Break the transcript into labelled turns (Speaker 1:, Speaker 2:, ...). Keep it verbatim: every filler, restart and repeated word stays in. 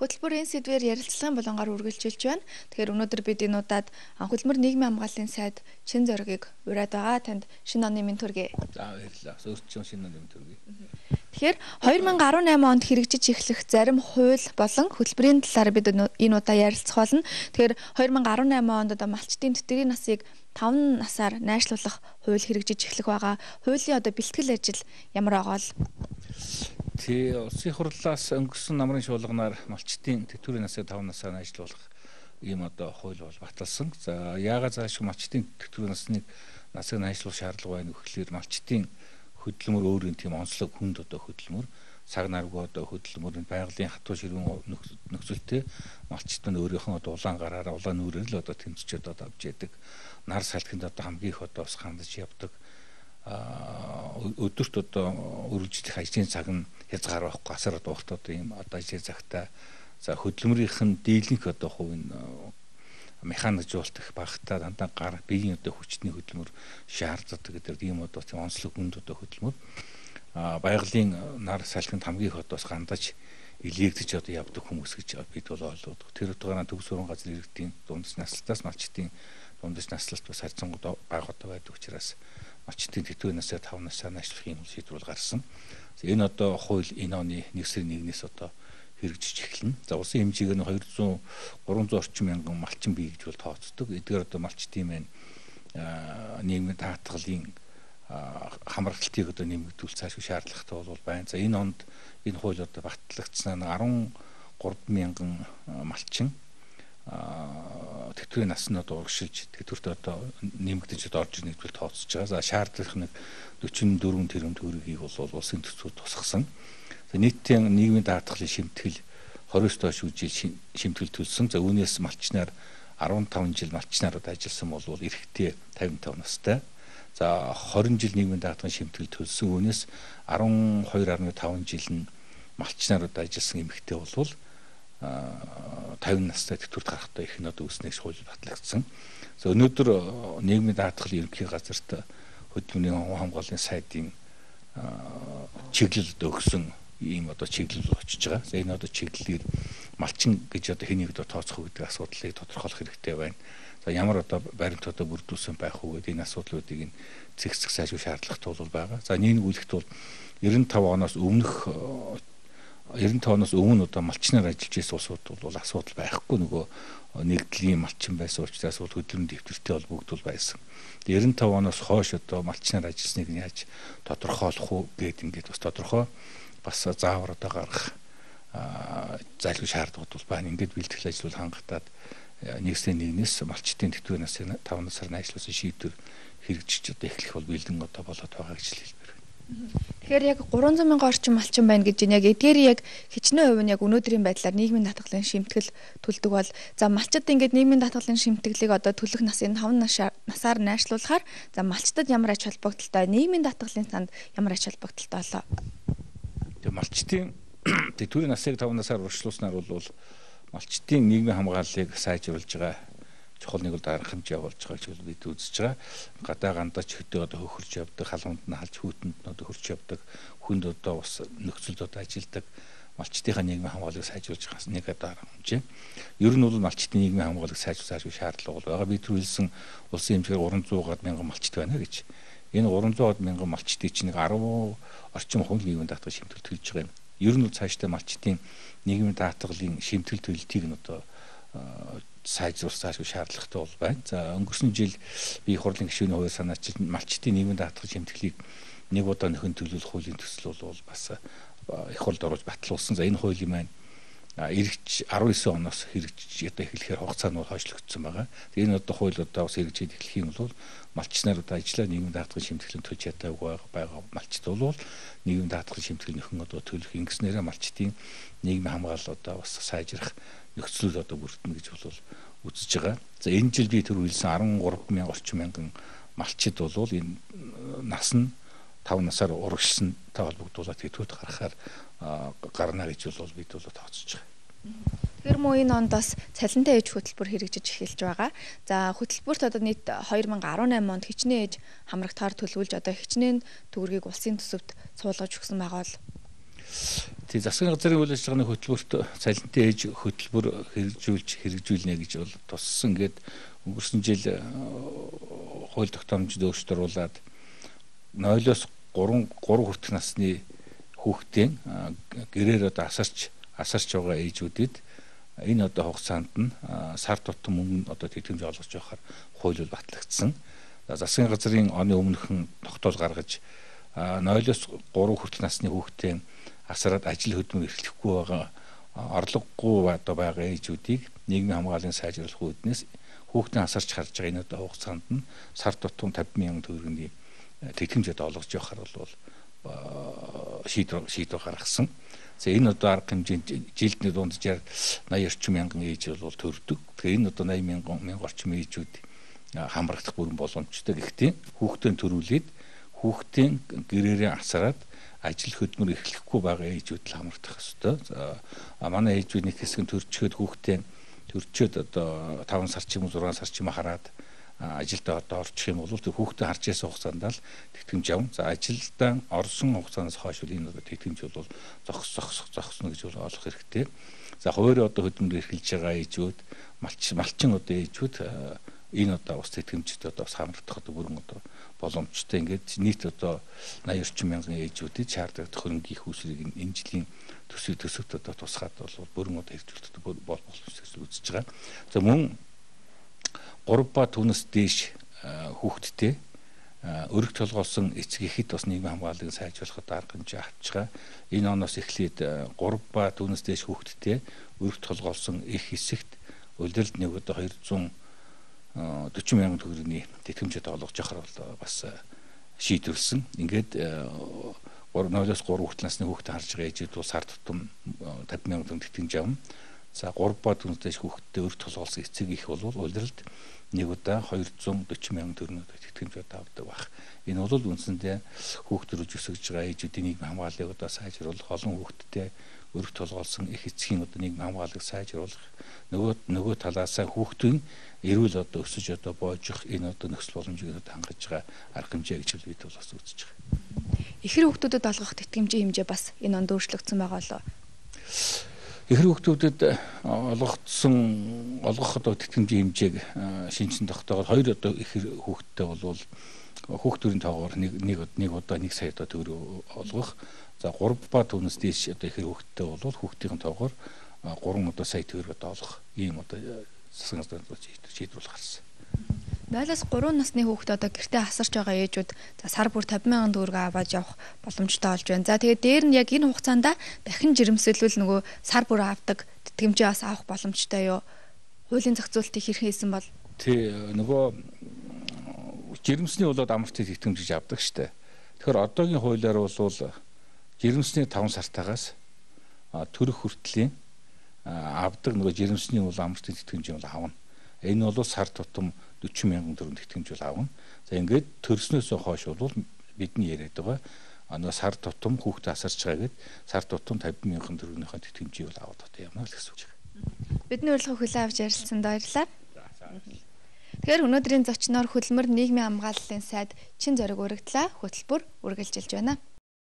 Speaker 1: Хөтөлбөр энэ сэдвээр ярилцлагын болонгоор үргэлжилж байна. Тэгэхээр өнөөдөр бид энэ удаад хөдөлмөр нийгмийн хамгааллын сайд шин зоригийг ураад байгаа. Танд шинэ оны минь төргий.
Speaker 2: За баярлалаа. Өөрчлөн шинэ оны минь төргий.
Speaker 1: Тэгэхээр хоёр мянга арван найман онд хэрэгжиж эхлэх зарим хууль болон хөтөлбөрийн талаар бид энэ удаа ярилцах болно. Тэгэхээр хоёр мянга арван найман онд одоо малчтын тэтгэврийн насыг таван насаар найшлуулах хууль хэрэгжиж эхлэх байгаа. Хуулийн одоо бэлтгэл ажил ямар байгаа вэ?
Speaker 2: Тий, улсын хурлаас өнгөрсөн намрын шуулганаар малчтын тэтгэврийн насыг таван насаар найжлуулах ийм одоо хууль бол баталсан. За яагаад заашгүй малчтын тэтгэврийн насныг насыг найжлуулах шаардлага байна вэ гэхээр малчтын хөдөлмөр өөрийн тийм онцлог хүнд одоо хөдөлмөр цаг наргүй одоо хөдөлмөрийн байгалийн хатуу ширүүн нөхцөлтэй малчтын өөрийнх нь одоо улаан гараараа улаан нүрээр л одоо тэмцчихэд одоо авч яадаг. Нар салхинд одоо хамгийн их одоо бас хандаж явдаг. А өдөрт одоо үргэлжлэх ажлын цаг нь хязгаар байхгүй асар дуурт одоо ийм одоо ажлын цагтаа за хөдөлмөрийнх нь дийлэнх одоо хувийн механикжуулалт их багтаа дандаа гар биеийн одоо хүчний хөдөлмөр шаарддаг гэдэг ийм одоо тийм онцлог хүнд одоо хөдөлмөр а байгалийн нар салхинд хамгийн их одоо гандаж илээгдэж одоо явдаг хүмүүс гэж бид бол ойлгодог. Тэр утгаараа төв сургууль газрын иргэдийн дундас наслалтаас малчтын дундас наслалт бас харьцангуй бага одоо байдаг учраас малчтын тэтгэврийн насыг таван насаар найшлуулах юм шийдвэр гаргасан. Энэ одоо хууль энэ оны нэг сарын нэгнээс одоо хэрэгжиж эхэлнэ. За улсын хэмжээгээр нь хоёрзуун гуравзуун орчим мянган малчин бий гэж бол тооцдог. Эдгээр одоо малчтын маань нийгмийн даатгалын хамрагталтыг одоо нэмэгдүүл цаашгүй шаардлагатай бол байна. За энэ онд энэ хууль одоо батлагдсанаа арван гурван мянган малчин тэтгэврийн насны одоо урагшилж тэтгэврт одоо нэмэгдэж одоо орж ирнэ гэж тооцож байгаа. За шаардлагах нэг дөрвөн тэрбум төгрөгийг бол улсын төсвөөр тусгасан. За нийтийн нийгмийн даатгалын шимтгэл хоригоос доош үжил шимтгэл төлсөн. За үүнээс малчнаар арван таван жил малчнаар одоо ажилласан бол эрэгтэй тавин таван настай. За хорин жил нийгмийн даатгалын шимтгэл төлсөн. Үүнээс арван хоёр гаруй таван жил нь малчнаар одоо ажилласан эмэгтэй бол тавин настай тэтгэврт гарахтаа их нь одоо үснээс хууль батлагдсан. За өнөөдөр нийгмийн даатгалын ерөнхий газарт хөдөлмөрийн хамгааллын сайдын чиглэл одоо өгсөн ийм одоо чиглэл очиж байгаа. За энэ одоо чиглэлээр малчин гэж одоо хэнийг одоо тооцох вэ гэдэг асуудлыг тодорхойлох хэрэгтэй байна. За ямар одоо баримт одоо бүрдүүлсэн байх уу гэдэг энэ асуудлуудыг цэгцэх сайжруулах шаардлагатай бол байгаа. За нийгүүлэхт бол девяносто пять оноос өмнөх девяносто пять оноос өмнө одоо малчнаар ажиллаж байсан улсууд бол асуудал байхгүй нөгөө нэгдлийн малчин байсан учраас бол хөдөлмөрийн дэвтэртэй холбогдвол байсан. девяносто пять оноос хойш одоо малчнаар ажилласныг нь яаж тодорхойлох уу гэдэг ингээд бас тодорхой бас заавар одоо гаргах зайлшгүй шаардлагууд бол байна. Ингээд бэлтгэл ажил бол хангалтад нэг сарын нэгнээс малчтын тэтгэврийн насыг таван насаар найжлуулсан шийдвэр хэрэгжиж одоо эхлэх бол бэлдэн одоо болоод байгаа гэж хэлбэр.
Speaker 1: Тэгэхээр яг гурван зуун мянган орчим малчин байна гэж байна. Яг эдгээр яг хичнээн хувь нь яг өнөөдрийн байдлаар нийгмийн даатгалын шимтгэл төлдөг бол за малчид ингээд нийгмийн даатгалын шимтгэлийг одоо төлөх насыг таван насаар найшлуулахаар за малчдад ямар ач холбогдолтой, нийгмийн даатгалын санд ямар ач холбогдолтой болоо.
Speaker 2: Тэгээ малчтын тэтгэврийн насыг таван насаар урьдчилуулснаар бол малчтын нийгмийн хамгааллыг сайжруулж байгаа чухал нэг бол дарамт явуулж байгаа гэж бид үзэж байгаа. Гадаа гандаж хөдөө одоо хөхөрч явдаг, халуунд нь халж хүүтэнд нь одоо хөрч явдаг, хүнд одоо бас нөхцөлд одоо ажилдаг малчтынхаа нийгмийн хамгааллыг сайжруулж байгаа нэг одоо хэмжээ. Ер нь бол малчтын нийгмийн хамгааллыг сайжруулах шаардлага бол байгаа. Бид түрүүлсэн улсын хэмжээгээр гуравзуун мянган малчт байна гэж. Энэ гуравзуун мянган малчтыг чинь нэг арван орчим хувь нийгмийн даатгал шимтгэл төлж байгаа юм. Ер нь бол цаашдаа малчтын нийгмийн даатгалын шимтгэл төлөлтийг нь одоо сайжруулах заашгүй шаардлагатай бол байна. За өнгөрсөн жил бие хурлын гишүүний хувьд санаачилж малчтын нийгмийн даатгал шимтгэлийг нэг удаа нөхөн төлөвлөх хуулийн төсөл бол бас их хурлд оруулж батлуулсан. За энэ хуулийн маань эргэж арван девять оноос хэрэгжиж одоо эхлэхээр хугацаа нь бол хойшлогдсон байгаа. Тэгээ энэ одоо хууль одоо бас хэрэгжиж эхлэх юм бол малчнаар одоо ажиллаа нийгмийн даатгалын шимтгэлэн төлж чадаагүй байгаа малчд бол нийгмийн даатгалын шимтгэл нөхөн одоо төлөх ингэснээрээ малчдын нийгмийн хамгаалал одоо бас сайжрах нөхцөл одоо бүрдэнэ гэж бол үзэж байгаа. За энэ жил би тэр үйлсэн арван гурван мянган орчим мянган малчид бол энэ нас нь таван насаар урагшилсантай холбогдуулаад тэтгэврт гаргахаар гарна гэж бол бид бол тооцож байгаа.
Speaker 1: Тэгэхээр мөн энэ онд бас цалинтай ээж хөтөлбөр хэрэгжиж эхэлж байгаа. За хөтөлбөрт одоо нийт хоёр мянга арван найман онд хичнээн ээж хамрагтаар төлөвлөж одоо хичнээн төгрөгийг улсын төсөвт суулгаж өгсөн байгаа бол
Speaker 2: тий засгийн газрын үйл ажиллагааны хөтөлбөрт цалинтай ээж хөтөлбөр хэрэгжүүлж хэрэгжүүлнэ гэж бол туссан. Ингээд өнгөрсөн жил хууль тогтоомжид өөрчлөлт оруулаад нойлоос гурван хүртэх насны хүүхдийн гэрээр одоо асарч асарч байгаа ээжүүдэд энэ одоо хугацаанд нь сар тутам мөнгө одоо тэтгэмж олгож явахаар хууль бол батлагдсан. Засгийн газрын оны өмнөхөн тогтоол гаргаж нойлоос гурван хүртэх насны хүүхдийн асараад ажил хөдөлмөр эрхлэхгүй байгаа орлогогүй одоо байгаа ээжүүдийг нийгмийн хамгааллын сайжруулах үүднээс хүүхдийн асарч харж байгаа энэ одоо хугацаанд нь сар тутам тавьсан мянган төгрөгийн тэтгэмжэд олгож явахаар бол шийдвэр шийдвэр гаргасан. За энэ одоо арга хэмжээнд жилд нэг дунджаар наяа орчим мянган ээж бол төрдөг. Тэгэхээр энэ одоо наяа мянган мянган орчим ээжүүд хамрагдах бүрэн боломжтой. Гэхдээ хүүхдийн төрүүлээд хүүхдийн гэрээрээ асараад ажил хөдөлмөр эрхлэхгүй байгаа ээжүүд л хамрагдах ёстой. За манай ээжүүд нэг хэсэг нь төрчөөд хүүхдийн төрчөөд одоо таван сар ч юм уу зургаан сар ч юм хараад ажилдаа одоо орчих юм бол тэр хүүхдээ харж яасан хугацаанд л тэтгэмж авна. За ажилдаа орсон хугацаанаас хойш энэ одоо тэтгэмж бол зогс зогс зогсно гэж бол олох хэрэгтэй. За хуваарь одоо хөдөлмөр эрхэлж байгаа ээжүүд малч малчин одоо ээжүүд энэ одоо ус тэтгэмжтэй одоо бас хамрагдах одоо бүрэн одоо боломжтой. Ингээд нийт одоо наяа орчим мянган ээжүүдэд шаарддаг хөрөнгөний хүүсрийг энэ жилийн төсөв төсөвт одоо тусгаад бол бүрэн одоо хэрэгжүүлэлт бол боломжтой үзэж байгаа. За мөн гурав ба түүнээс дээш хүүхэдтэй өргө толгоолсон эцэг эхэд бас нийгмийн хамгааллыг сайжруулахад арга хэмжээ авч байгаа. Энэ оноос эхлээд гурав ба түүнээс дээш хүүхэдтэй өргө толгоолсон их хэсэгт улиралд нэг одоо хоёрзуун дөрвөн мянган төгрөгийн тэтгэмжэд олгож явахаар бол бас шийдвэрлсэн. Ингээд нойлоос гурав хүртэл насны хүүхдэд харж байгаа ээжүүд бол сар тутам тавьсан мянган төгрөг тэтгэмж авна. За гурав ба түүнээс дээш хүүхэдтэй өргө толгоолсон эцэг их бол улиралд нэг удаа хоёрзуун дөрвөн мянган төгрөгийн тэтгэмжүүд авдаг байх. Энэ бол үндсэндээ хүүхдөрөж өсөж байгаа ээжүүдийн нийгмийн хамгааллыг одоо сайжруулах, олон хүүхэдтэй өргө толгоолсон их эцгийн одоо нийгмийн хамгааллыг сайжруулах, нөгөө нөгөө талаасаа хүүхдийн эрүүл одоо өсөж одоо боожих энэ одоо нөхцөл боломжийг одоо хангаж байгаа арга хэмжээ гэж бид бол бас үзэж байгаа.
Speaker 1: Ихэр хүүхдүүдэд олгох тэтгэмжийн хэмжээ бас энэ онд өөрчлөгдсөн байгаа болов.
Speaker 2: Ихэр хүүхдүүдэд олгогдсон олгох одоо тэтгэмжийн хэмжээг шинжсэн тогтоогоор хоёр одоо ихэр хүүхдтэй болвол хүүхдүүрийн тоогоор нэг нэг нэг удаа нэг сая одоо төгрөг олгох. За гурав ба түүнээс дээш одоо ихэр хүүхдтэй болвол хүүхдийн тоогоор гурван одоо сая төгрөг одоо олгох ийм одоо засгийн газрын шийдвэр гарсан.
Speaker 1: нойлоос гурван насны хүүхэд одоо гэртээ асарч байгаа ээжүүд за сар бүр тавьсан мянган төгрөг аваад явах боломжтой болж байна. За тэгээд дээр нь яг энэ хугацаанд дахин жирэмсэлвэл нөгөө сар бүр авдаг тэтгэмжээ бас авах боломжтой юу? Хуулийн зохицуултыг хэрхэн хийсэн бол?
Speaker 2: Тий нөгөө жирэмсний болоод амралтын тэтгэмж авдаг штэ. Тэгэхээр одоогийн хуулиар бол жирэмсний таван сартаагаас төрөх хүртлийн авдаг нөгөө жирэмсний бол амралтын тэтгэмж бол авна. Энэ бол сар тутам дөрвөн мянган төгрөг тэтгэмж бол авна. За ингээд төрснөөсөө хойш бол бидний яриад байгаа нөгөө сар тутам хүүхдээ асарч байгаа гэд сар тутам тавьсан мянган төгрөгийнхөө тэтгэмжийг бол аваад одоо явна л гэсэн үг байна.
Speaker 1: Бидний урилга хүлээн авч ярилцсанд баярлалаа. Тэгэхээр өнөөдрийн зочноор хөдөлмөр нийгмийн хамгааллын сайд Чин зориг өргөдлөө хөтөлбөр үргэлжилж байна.